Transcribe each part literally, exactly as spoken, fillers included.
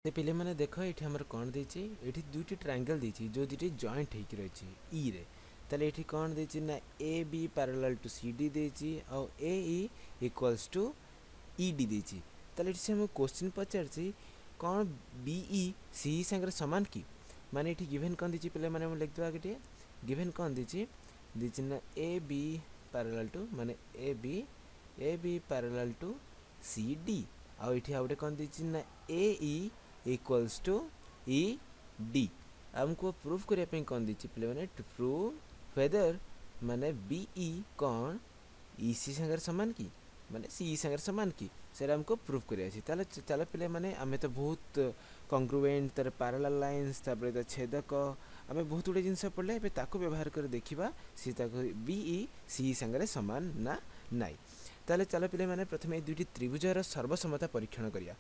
ତ ପିଲାମାନେ ଦେଖ ଏଠି ଆମର କ'ଣ ଦେଇଛି ଏଠି ଦୁଇଟି ଟ୍ରାଙ୍ଗେଲ୍ ଦେଇଛି ଯେଉଁ ଦୁଇଟି ଜଏଣ୍ଟ ହେଇକି ରହିଛି ଇରେ ତାହେଲେ ଏଠି କ'ଣ ଦେଇଛି ନା A B parallel to C D ଦେଇଛି ଆଉ A E equals to E D ଦେଇଛି ତାହେଲେ ଏଠି ସେ ଆମକୁ କୋଶ୍ଚିନ୍ ପଚାରିଛି କ'ଣ ବି ଇ ସି ଇ ସାଙ୍ଗରେ ସମାନ କି ମାନେ ଏଠି ଗିଭେନ୍ କ'ଣ ଦେଇଛି ପିଲାମାନେ ମୁଁ ଲେଖିଦେବା ଆଗେ ଟିକେ ଗିଭେନ୍ କ'ଣ ଦେଇଛି ଦେଇଛି ନା ଏ ବି ପାରାଲାଲ୍ ଟୁ ମାନେ A B A B parallel to C D ଆଉ ଏଠି ଆଉ ଗୋଟେ କ'ଣ ଦେଇଛି ନା A E equals to E D ଆମକୁ ପ୍ରୁଫ୍ କରିବା ପାଇଁ କ'ଣ ଦେଇଛି ପିଲାମାନେ ଟୁ ପ୍ରୁଭ୍ ହ୍ୱେଦର ମାନେ ବି ଇ କ'ଣ ଇ ସି ସାଙ୍ଗରେ ସମାନ କି ମାନେ ସି ଇ ସାଙ୍ଗରେ ସମାନ କି ସେଇଟା ଆମକୁ ପ୍ରୁଫ୍ କରିବାର ଅଛି ତାହେଲେ ଚାଲ ପିଲାମାନେ ଆମେ ତ ବହୁତ କଂଗ୍ରୁଏଣ୍ଟ ତାର ପାରାଲାଲ୍ ଲାଇନ୍ସ ତାପରେ ତା ଛେଦକ ଆମେ ବହୁତ ଗୁଡ଼ିଏ ଜିନିଷ ପଢ଼ିଲେ ଏବେ ତାକୁ ବ୍ୟବହାର କରି ଦେଖିବା ସିଏ ତାକୁ ବି ଇ ସି ଇ ସାଙ୍ଗରେ ସମାନ ନା ନାଇଁ ତାହେଲେ ଚାଲ ପିଲାମାନେ ପ୍ରଥମେ ଏଇ ଦୁଇଟି ତ୍ରିଭୁଜର ସର୍ବସମତା ପରୀକ୍ଷଣ କରିବା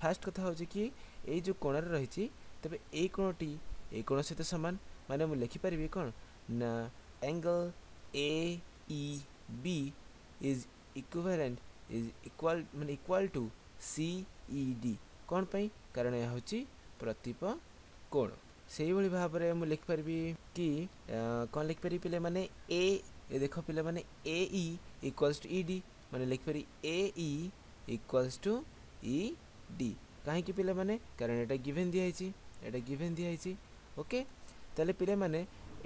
ଫାର୍ଷ୍ଟ କଥା ହେଉଛି କି ଏଇ ଯେଉଁ କୋଣରେ ରହିଛି ତେବେ ଏଇ କୋଣଟି ଏଇ କୋଣ ସହିତ ସମାନ ମାନେ ମୁଁ ଲେଖିପାରିବି କ'ଣ ନା angle A E B is equivalent is equal ମାନେ equal to C E D କ'ଣ ପାଇଁ କାରଣ ଏହା ହେଉଛି ପ୍ରତିପ କୋଣ ସେଇଭଳି ଭାବରେ ମୁଁ ଲେଖିପାରିବି କି କ'ଣ ଲେଖିପାରିବି ପିଲାମାନେ ଏ ଏ ଦେଖ ପିଲାମାନେ A E equals to E D ମାନେ ଲେଖିପାରିବି A E equals to E D କାହିଁକି ପିଲାମାନେ କାରଣ ଏଇଟା ଗିଭେନ୍ ଦିଆହେଇଛି ଏଇଟା ଗିଭେନ୍ ଦିଆହେଇଛି ଓକେ ତାହେଲେ ପିଲାମାନେ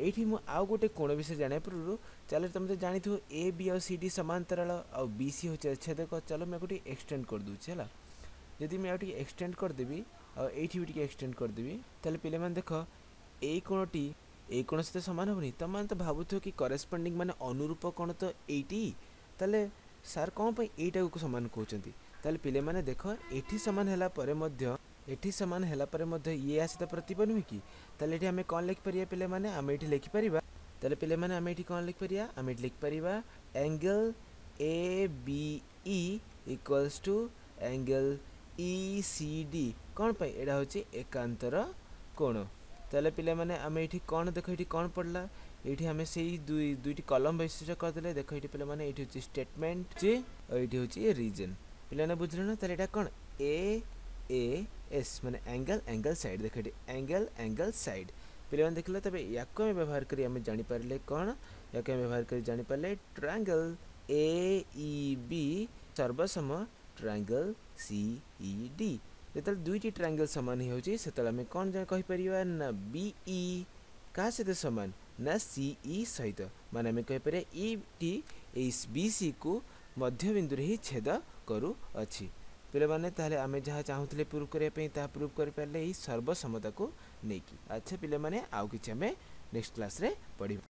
ଏଇଠି ମୁଁ ଆଉ ଗୋଟେ କୋଣ ବିଷୟରେ ଜାଣିବା ପୂର୍ବରୁ ଚାଲ ତୁମେ ତ ଜାଣିଥିବ ଏ ବି ଆଉ ସି ଡି ସମାନ୍ତରାଳ ଆଉ ବି ସି ହେଉଛି ଛେଦକ ଚାଲ ମୁଁ ଆକୁ ଟିକେ ଏକ୍ସଟେଣ୍ଡ କରିଦେଉଛି ହେଲା ଯଦି ମୁଁ ଆଉ ଟିକେ ଏକ୍ସଟେଣ୍ଡ କରିଦେବି ଆଉ ଏଇଠି ବି ଟିକେ ଏକ୍ସଟେଣ୍ଡ କରିଦେବି ତାହେଲେ ପିଲାମାନେ ଦେଖ ଏଇ କୋଣଟି ଏଇ କୋଣ ସହିତ ସମାନ ହେବନି ତୁମମାନେ ତ ଭାବୁଥିବ କି କରେସ୍ପଣ୍ଡିଂ ମାନେ ଅନୁରୂପ କୋଣ ତ ଏଇଟି ତାହେଲେ ସାର୍ କ'ଣ ପାଇଁ ଏଇଟାକୁ ସମାନ କହୁଛନ୍ତି ତାହେଲେ ପିଲାମାନେ ଦେଖ ଏଠି ସମାନ ହେଲା ପରେ ମଧ୍ୟ ଏଠି ସମାନ ହେଲା ପରେ ମଧ୍ୟ ଇଏ ୟା ସହିତ ପ୍ରତିପ ନୁହେଁ କି ତାହେଲେ ଏଠି ଆମେ କ'ଣ ଲେଖିପାରିବା ପିଲାମାନେ ଆମେ ଏଠି ଲେଖିପାରିବା ତାହେଲେ ପିଲାମାନେ ଆମେ ଏଠି କ'ଣ ଲେଖିପାରିବା ଆମେ ଏଠି ଲେଖିପାରିବା angle A B E equals to angle E C D କ'ଣ ପାଇଁ ଏଇଟା ହେଉଛି ଏକାନ୍ତର କୋଣ ତାହେଲେ ପିଲାମାନେ ଆମେ ଏଠି କ'ଣ ଦେଖ ଏଠି କ'ଣ ପଡ଼ିଲା ଏଇଠି ଆମେ ସେଇ ଦୁଇ ଦୁଇଟି କଲମ ବୈଶିଷ୍ଟ୍ୟ କରିଦେଲେ ଦେଖ ଏଇଠି ପିଲାମାନେ ଏଇଠି ହେଉଛି ଷ୍ଟେଟମେଣ୍ଟ ଆଉ ଏଇଠି ହେଉଛି ରିଜନ୍ ପିଲାମାନେ ବୁଝିଲେ ନା ତାହେଲେ ଏଇଟା କ'ଣ ଏ ଏ ଏସ୍ ମାନେ ଆଙ୍ଗେଲ୍ ଆଙ୍ଗେଲ୍ ସାଇଡ଼୍ ଦେଖ ଏଠି ଆଙ୍ଗେଲ୍ ଆଙ୍ଗେଲ୍ ସାଇଡ଼୍ ପିଲାମାନେ ଦେଖିଲେ ତେବେ ୟାକୁ ଆମେ ବ୍ୟବହାର କରି ଆମେ ଜାଣିପାରିଲେ କ'ଣ ୟାକୁ ଆମେ ବ୍ୟବହାର କରି ଜାଣିପାରିଲେ ଟ୍ରାଙ୍ଗେଲ୍ ଏ ଇ ବି ସର୍ବସମ ଟ୍ରାଙ୍ଗେଲ୍ ସି ଇ ଡି ଯେତେବେଳେ ଦୁଇଟି ଟ୍ରାଙ୍ଗେଲ୍ ସମାନ ହେଇଯାଉଛି ସେତେବେଳେ ଆମେ କ'ଣ କହିପାରିବା ନା ବି ଇ କାହା ସହିତ ସମାନ ନା ସି ଇ ସହିତ ମାନେ ଆମେ କହିପାରିବା ଇଟି ଏଇ ବି ସିକୁ ମଧ୍ୟବିନ୍ଦୁରେ ହିଁ ଛେଦ କରୁଅଛି ପିଲାମାନେ ତାହେଲେ ଆମେ ଯାହା ଚାହୁଁଥିଲେ ପ୍ରୁଭ୍ କରିବା ପାଇଁ ତାହା ପ୍ରୁଭ୍ କରିପାରିଲେ ଏଇ ସର୍ବସମତାକୁ ନେଇକି ଆଚ୍ଛା ପିଲାମାନେ ଆଉ କିଛି ଆମେ ନେକ୍ସଟ କ୍ଲାସ୍ରେ ପଢ଼ିବା।